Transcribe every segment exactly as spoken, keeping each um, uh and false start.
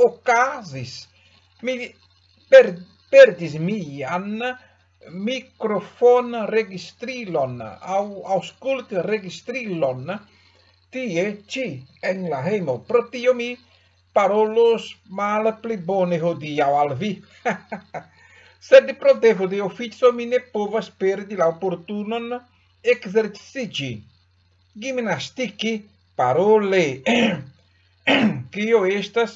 okazis? Mi per-, perdis mian mikrofonregistrilon aŭ aŭskultregistrilon tie ĉi en la hejmo. Pro tio mi parolos malpli bone hodiaŭ al vi. Sed pro devo de ofico mi ne povas perdi la oportunon ekzerciĝi, gimnastiki parole, kio estas,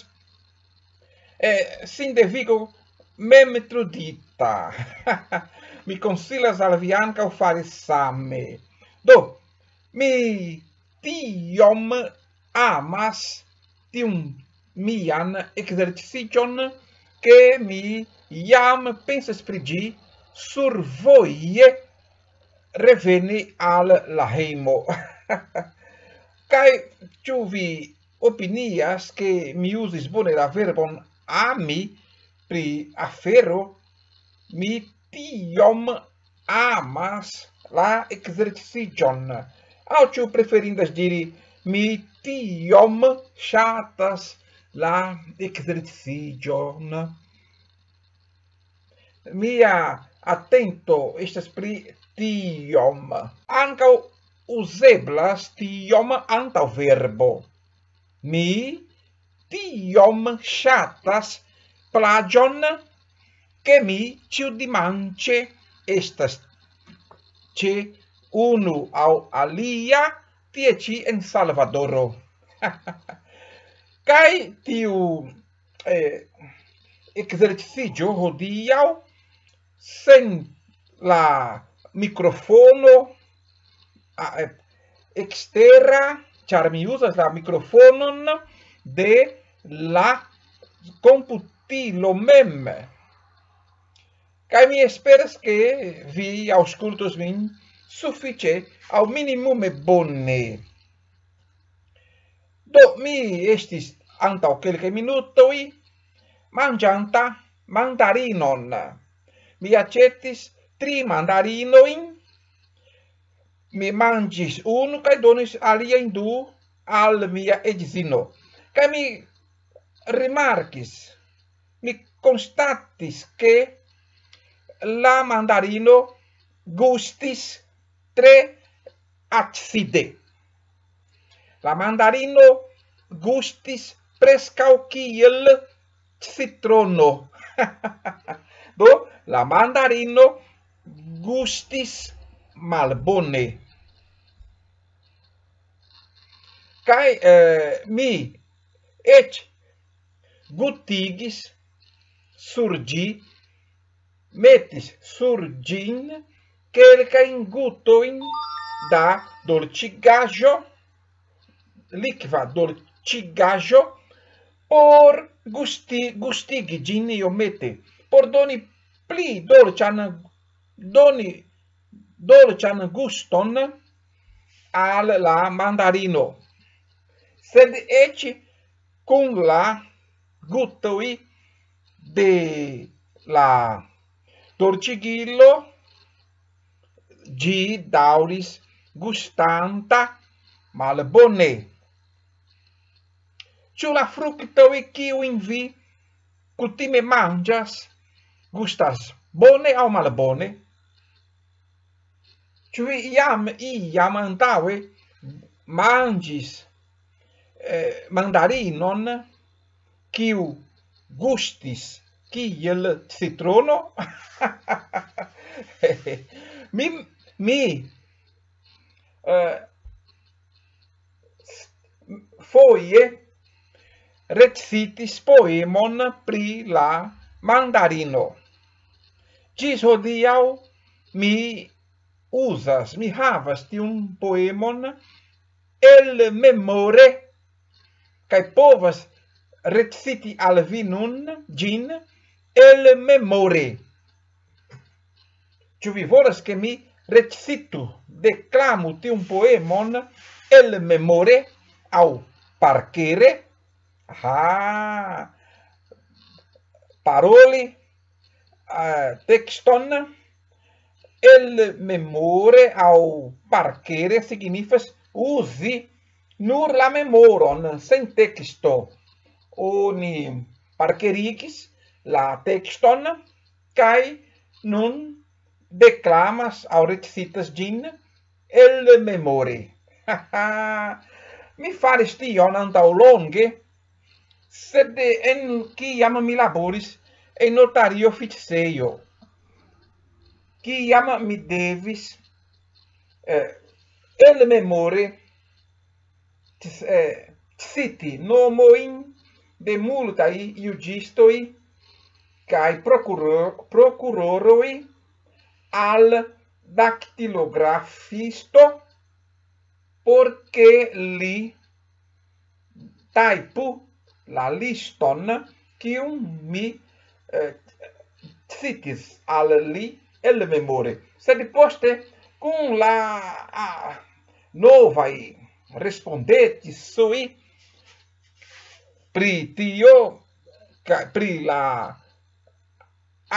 eh, sindevigo memtrudita. Mi konsilas al vi ankaŭ fari same. Do, mi tiom amas tiun mian ekzerciĝon, ke mi jam pensas pri ĝi survoje reveni al la hejmo. Kaj ĉu vi opinias, ke mi uzis bone la verbon ami pri afero? Mi tiom amas la ekzerciĝon. Aŭ ĉu preferindas diri, mi tiom ŝatas la ekzerciĝon. Mia atento estas pri tiom. Ankaŭ uzeblas tiom antaŭ verbo. Mi tiom ŝatas plaĝon, ke mi ĉiudimanĉe estas ĉe unu aŭ alia, tie ĉi en Salvadoro. Kaj tiu, eh, ekzerciĝo hodiaŭ sen la mikrofono, a, eh, ekstera, ĉar mi uzas la mikrofonon de la komputilo mem. Kaj mi esperas, ke vi aŭskultos min sufiĉe aŭ minimume bone. Do, mi estis antaŭ kelkaj minutoj manĝanta mandarinon. Mi aĉetis tri mandarinojn, mi manĝis unu kaj donis aliajn du al mia edzino. Kaj mi rimarkis, mi konstatis, ke la mandarino gustis tre acide. La mandarino gustis preskaŭ kiel citrono. Do, la mandarino gustis malbone. Kaj, eh, mi eĉ gutigis sur ĝi, metis sur ĝin kelkajn gutojn da dolĉigaĵo, likva dolĉigaĵo, por gusti-, gustigi ĝin iomete, por doni pli dolĉan, doni dolĉan guston al la mandarino. Sed eĉ kun la gutoj de la dolĉigilo, ĝi daŭris gustanta malbone. Ĉu la fruktoj, kiujn vi kutime manĝas, gustas bone aŭ malbone? Ĉu vi jam iam antaŭe manĝis, eh, mandarinon, kiu gustis kiel citrono? Mi, mi, eh, foje recitis poemon pri la mandarino. Ĝis hodiaŭ mi uzas, mi havas tiun poemon elmemore, kaj povas reciti al vi nun ĝin elmemore. Ĉu vi volas, ke mi recitu, deklamu tiun poemon elmemore aŭ parkere? Ha! Paroli, eh, tekston elmemore aŭ parkere signifas uzi nur la memoron sen teksto. Oni parkerigis la tekston, kaj nun deklamas aŭ recitas ĝin elmemore. Mi faris tion antaŭ longe, sed en kiam mi laboris en notario oficejo, kiam mi devis eh, elmemore eh, citi nomojn de multaj juĝistoj kaj prokuroroj al daktilografisto, por ke li tajpu la liston, kiun mi eh, citis al li elmemore. Sed poste, kun la ah, novaj respondetisoj pri tio, pri la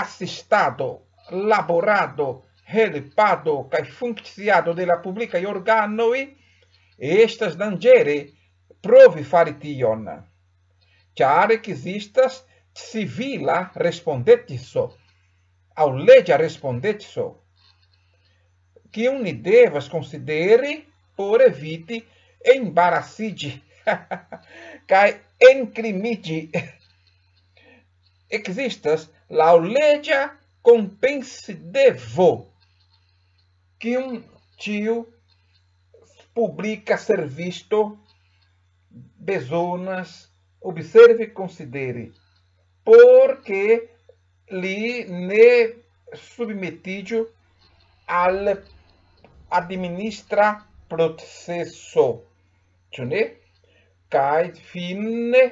asistado, laborado, helpado kaj funkciado de la publikaj organoj, estas danĝere provi fari tion, ĉar ekzistas civila respondetiso aŭ leĝa respondetiso, kiun ni devas konsideri por eviti embarasiĝi kaj enkrimiĝi. Ekzistas laŭleĝa kompensidevo, kiun ĉiu publika servisto bezonas observi, konsideri, por ke li ne submetiĝu al administra proceso, ĉu ne? Kaj fine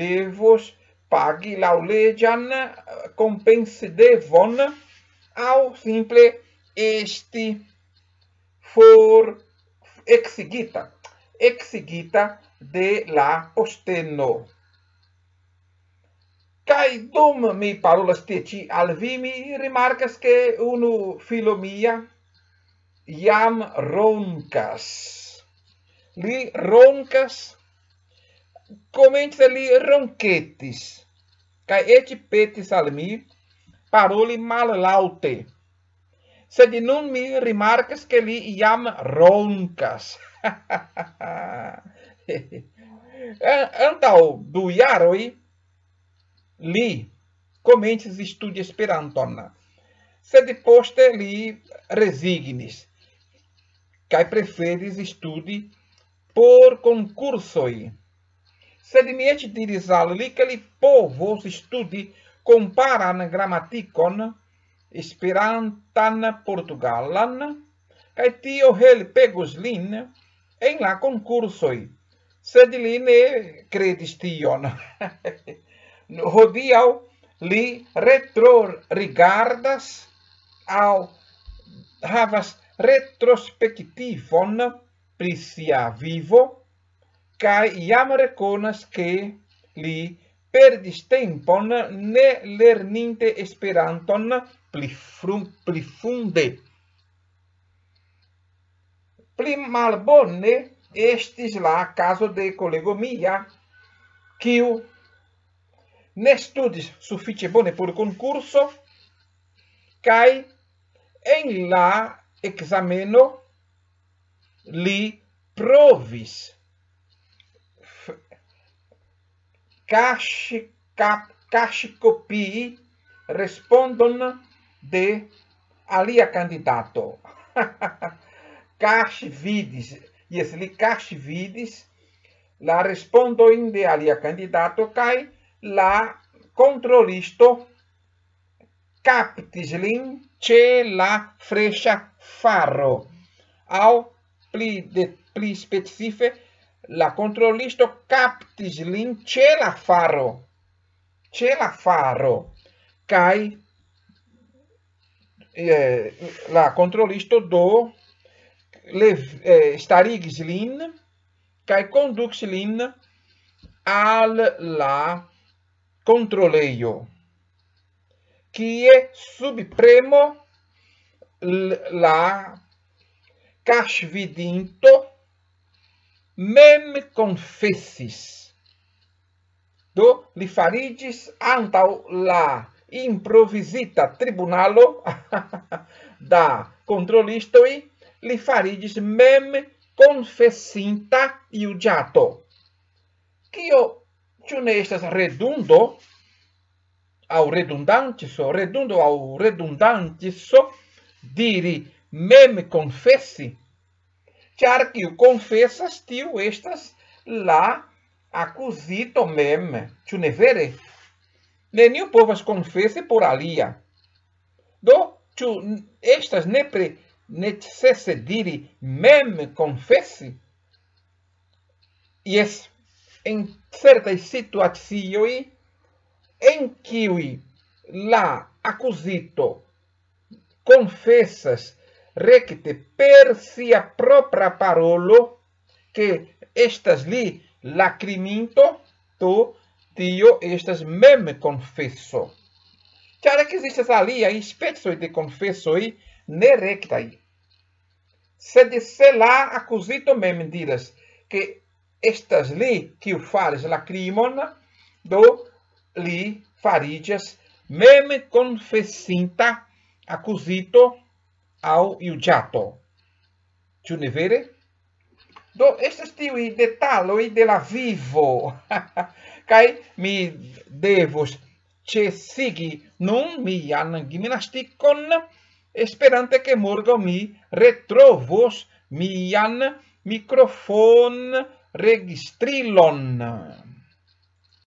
devos pagi laŭleĝan kompensidevon aŭ simple esti for eksigita, eksigita de la posteno. Kaj dum mi parolas tie ĉi al vi, mi rimarkas, ke unu filo mia jam ronkas. Li ronkas, komence li ronketis, kaj eĉ petis al mi paroli mallaŭte. Sed nun mi rimarkas, ke li jam ronkas. Antaŭ du jaroj li komencis studi Esperanton, sed poste li rezignis kaj preferis studi por konkursoj. Sed mi eĉ diris al li, ke li povos studi komparan gramatikon, esperantan, portugalan, kaj tio helpegos lin en la konkursoj. Sed li ne kredis tion. Hodiaŭ li retrorigardas aŭ havas retrospektivon pri sia vivo, kaj jam rekonas, ke li perdis tempon ne lerninte Esperanton pli, fru, pli funde. Pli malbone estis la kazo de kolego mia, kiu ne studis sufiĉe bone por konkurso, kaj en la ekzameno li provis kaŝi, kap, kaŝi kopii respondon de alia kandidato. Kaŝi vidis, jes, li kaŝi vidis la respondojn de alia kandidato, kaj la kontrolisto kaptis lin ĉe la freŝa faro, aŭ pli, de, pli specife, la kontrolisto kaptis lin ĉe la faro, ĉe la faro, kaj eh, la kontrolisto do le, eh, starigis lin kaj kondukis lin al la kontrolejo, kie sub premo la kaŝvidinto mem konfesis. Do li fariĝis antaŭ la improvizita tribunalo da kontrolistoj, li fariĝis mem konfesinta juĝato. Kio, ĉu ne estas redundo aŭ redundantiso, redundo aŭ redundantiso diri mem konfesi? Ĉar kiu konfesas, tiu estas la akuzito mem, ĉu ne vere? Neniu povas konfesi por alia. Do, ĉu estas nepre necese diri mem konfesi? Jes, en certaj situacioj, en kiuj la akuzito konfesas rekte per sia propra parolo, ke estas li la kriminto, do tio estas mem konfeso. Ĉar ekzistas aliaj specoj de konfesoj nerektaj. Sed se la akuzito mem diras, ke estas li, kiu faris la krimon, do li fariĝas mem konfesinta akuzito aŭ juĝato. Ĉu ne vere? Do estas tiuj detaloj de la vivo. Kaj mi devos ĉesigi nun mian gimnastikon, esperante ke morgaŭ mi retrovos mian mikrofon registrilon.